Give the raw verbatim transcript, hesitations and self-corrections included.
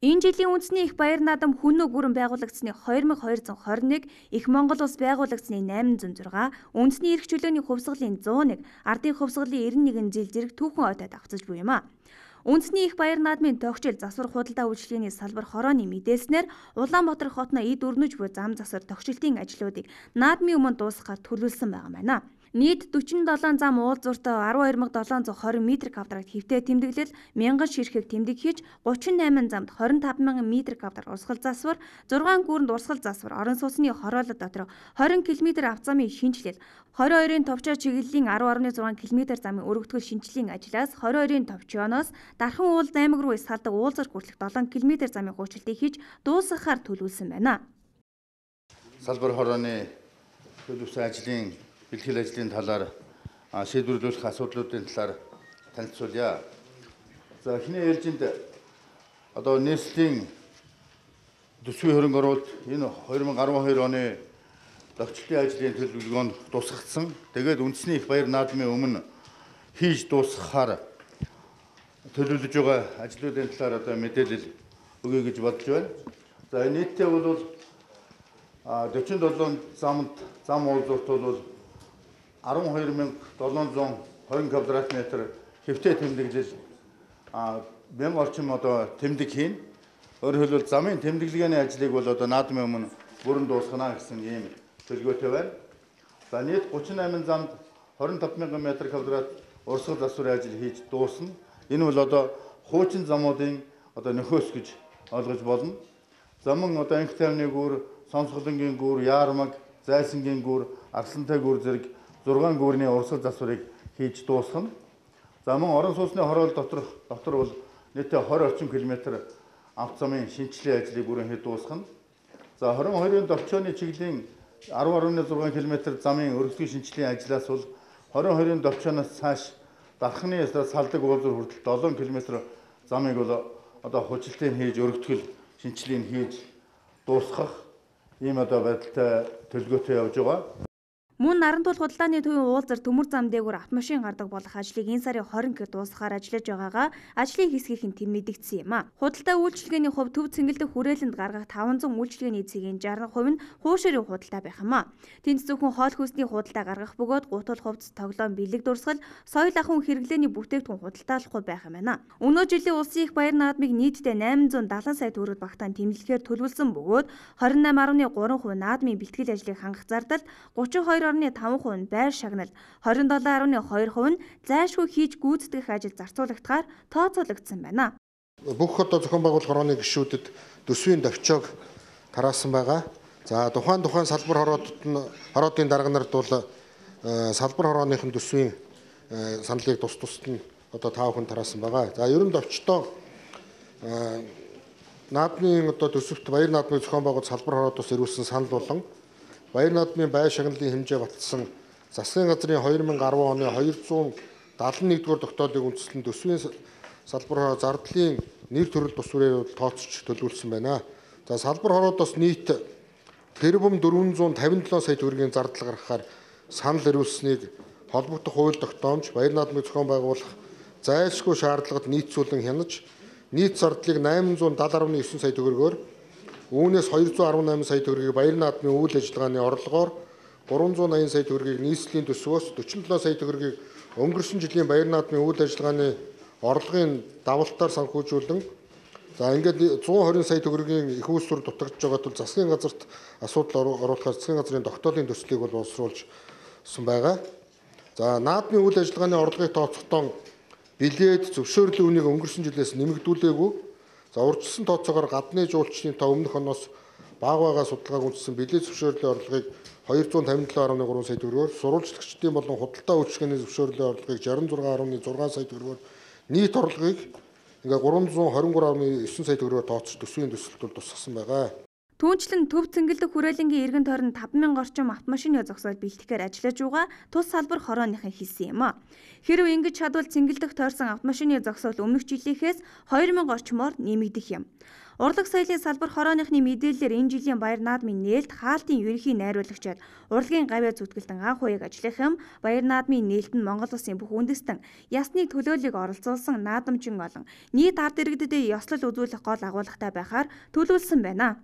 Энэ жилийн үндэсний их баяр наадам Хүннү гүрэн байгуулагдсны хоёр мың хоёр зуун хорин нэг, Их Монгол улс байгуулагдсны найман зуун зургаан, үндэсний эрх чөлөөний хувьсгалын зуун нэг, ардын хувьсгалын эрдэнэ нэгэн жил зэрэг түүхэн ойтой давхцаж буй юм а. Үндэсний их баяр наадмын тогтчил засвар худалдаа үйлчилгээний салбар хорооны мэдээлснээр Улаанбаатар хотно эд өрнөж буй зам засвар тогтчлтын ажлуудыг наадмын өмнө дуусгахаар төлөвлөсөн байгаа байна. Нийт дөрвөн седем зам уулзууртай арван хоёр мянга долоон зуун хорин метр квадрат хэвтээ тэмдэглэл, мянган ширхэг тэмдэг хийж, гучин найман замд хорин таван мянган метр квадрат урсгал засвар, зургаан гүүрэнд урсгал засвар, орон сууцны хороолол дотор хорин километр авцамын шинжилэл, хорин хоёрын товчоо чиглэлийн арван гаруй зургаан километр замын өргөтгөл шинжиллийн ажлаас хорин хоёрын товчооноос Дархан уул аймаг руу салдаг уулзар хүртэлх долоон километр замын хуучилтыг хийж дуусгахаар төлөвлөсөн байна. Салбар хорооны төлөвсөн ажлын бэлтгэл ажлын талаар шийдвэрлэх асуудлуудын талаар танилцуулъя. За эхний ээлжинд одоо нийслэлийн төсвийн хөрөнгө оруулалт энэ хоёр мың арван хоёр оны тогтчлын ажлын төлөвлөгөөнд тусгагдсан. Тэгээд үндэсний их баяр наадмын өмнө хийж дуусгахаар төлөвлөж байгаа ажлуудын талаар одоо мэдээлэл өгье гэж бодож байна. За нийтдээ бол дөрвөн седем замд зам уулзуурт бол арван хоёр мянга долоон зуун хорин квадрат метр хэвтээ тэмдэглэл мянган орчим одоо тэмдэг хийн. Өөрөөр хэлбэл замын тэмдэглэгээний ажлыг бол одоо наадмын өмнө бүрэн дуусгана гэсэн ийм төлөвлөгөөтэй байна. За нийт гучин восемь замд хорин таван мянган метр квадрат урсгал засварын ажил хийж дуусна. Энэ бол одоо хуучин замуудын одоо нөхөөс гэж ойлгож болно. Замын одоо анх тайвны гүүр, Сонсголонгийн гүүр, Яармаг, Зайсангийн гүүр, Арслантай гүүр зэрэг зургаан гүүрний урсгал засварыг хийж дуусгана. За мөн орон сууцны хороол дотор дотор бол нийтдээ двадцать орчим километр авто замын шинжилгээ ажлыг бүрэн хийж дуусгана. За хорин хоёрын товчооны чиглэлийн арван гаруй зургаан километр замын өргөдлийн шинжилгээний ажлаас бол хорин хоёрын товчооноос цааш Дарханы салдаг уулзуур хүртэл долоон километр замыг бол одоо хужилтыг хийж өргөдгөл шинжилгээг хийж дуусгах ийм одоо байдалтай төлөвлөгөөтэй явж байгаа. Мөн Нарантуул худалдааны төвийн уулзар төмөр зам дээгүүр автомашин гардаг болох ажлыг энэ сарын хорин-нд дуусгахаар ажиллаж байгаагаа ажлын хэсгийнхэн тэм мэдэгдсэн юм а. Худалдаа үйлчилгээний хувь төв цэнгэлдэх хүрээлэнд гаргах таван зуун үйлчилгээний цэгийн шестьдесят хувь нь хуушрын худалдаа байх юм а. Тэнд зөвхөн хоол хүнсний худалдаа гаргах бөгөөд гутал хувцас, тоглоом, бэлэг дурсгал, соёл ахуйн хэрэглээний бүтээгдэхүүн худалдаалахгүй байх юм байна. Өнөө жилийн улсын их баяр наадмыг нийтдээ найман зуун дагалан сая төгрөг багтаан тэмдэглэхээр төлөвлөсөн бөгөөд двадцать восемь гаруй три хувь наадмын бэлтгэл ажлыг хангах зардал, тридцать two гаруй five хувь нь байр шагнал, двадцать seven гаруй two хувь нь зайлшгүй хийж гүйцэтгэх ажил зарцуулагдахаар тооцоологдсон байна. Бүх одоо зохион байгуулалт хорооны гишүүдэд төсвийн товчоог тараасан байгаа. За тухайн тухайн салбар хороодод нь хороодын дарга нарт бол салбар хорооныхын төсвийн саналыг тус тусад нь одоо тав хүн тараасан байгаа. За ерөн товчтоо наадмын одоо төсөвт баяр наадмын зохион байгуулалт салбар хороодоос ирүүлсэн санал болон баяр наадмын байр шагналын хэмжээ баталсан засгийн газрын two thousand ten оны two hundred seventy-one дугаар тогтоолыг үндэслэн төсвийн салбар зардлын нэр төрөл тусварыг тооцож төлөвлөсөн байна. За салбар хороодоос нийт тэрбум four hundred fifty-seven сая төгрөгийн зардал гаргахаар санал ирүүлсэнийг холбогдох хууль тогтоомж баяр наадмыг зохион байгуулах зайлшгүй шаардлагад нийцүүлэн хянаж нийт зардлыг eight hundred seventy point nine сая төгрөгөөр үүнээс two hundred eighteen сая төгрөгийг баяр наадмын үйл ажиллагааны орлогоор three hundred eighty сая төгрөгийг нийслэлийн төсвөөс forty-seven сая төгрөгийг өнгөрсөн жилийн баяр наадмын үйл ажиллагааны орлогын давалтаар санхүүжүүлэн за ингээд one hundred twenty сая төгрөгийн их үүсвэр дутагдж байгаа тул засгийн газарт асуудал оруулахаар засгийн газрын тогтоолын төслийг бол боловсруулсан байгаа. За наадмын үйл ажиллагааны орлогыг тооцохдоо билет зөвшөөрлийн үнийг өнгөрсөн жилээс нэмэгдүүлээгүй. За урьдчилсан тооцоогоор гадны жуулчдын тоо өмнөх оноос бага бага судалгааг үндэслэн билет зөвшөөрлийн орлогыг two hundred fifty-seven point three сая төгрөгөөр, сурвалжлагчдын болон худалдаа үйлчилгээний зөвшөөрлийн орлогыг sixty-six point six сая төгрөгөөр, нийт орлогыг ингээ three hundred twenty-three point nine сая төгрөгөөр тооцож төсвийн төсөлтөд тусгасан байгаа. Түүнчлэн төв цэнгэлдэх хүрээлэнгийн эргэн тойронд таван мянган орчим автомашины зогсоол бэлтгэхээр ажиллаж байгаа тус салбар хорооныхан хэлсэн юм а. Хэрв ингэж чадвал цэнгэлдэх тойрсон автомашины зогсоол өмнөх жилийнхээс хоёр мянга орчмоор нэмэгдэх юм. Урлаг соёлын салбар хорооныхны мэдээллээр энэ жилийн Баяр наадмын нээлт хаалтын ерөнхий найруулагчид урлагийн гавьяа зүтгэлтэн анх уяг ажиллах юм. Баяр наадмын нээлт нь Монгол Улсын бүх үндэстэн ясны төлөөллийг оролцуулсан наадамчин олон нийт ард иргэдэд ёслол үзүүлэх гол агуулгатай байхаар төлөвлөсөн байна.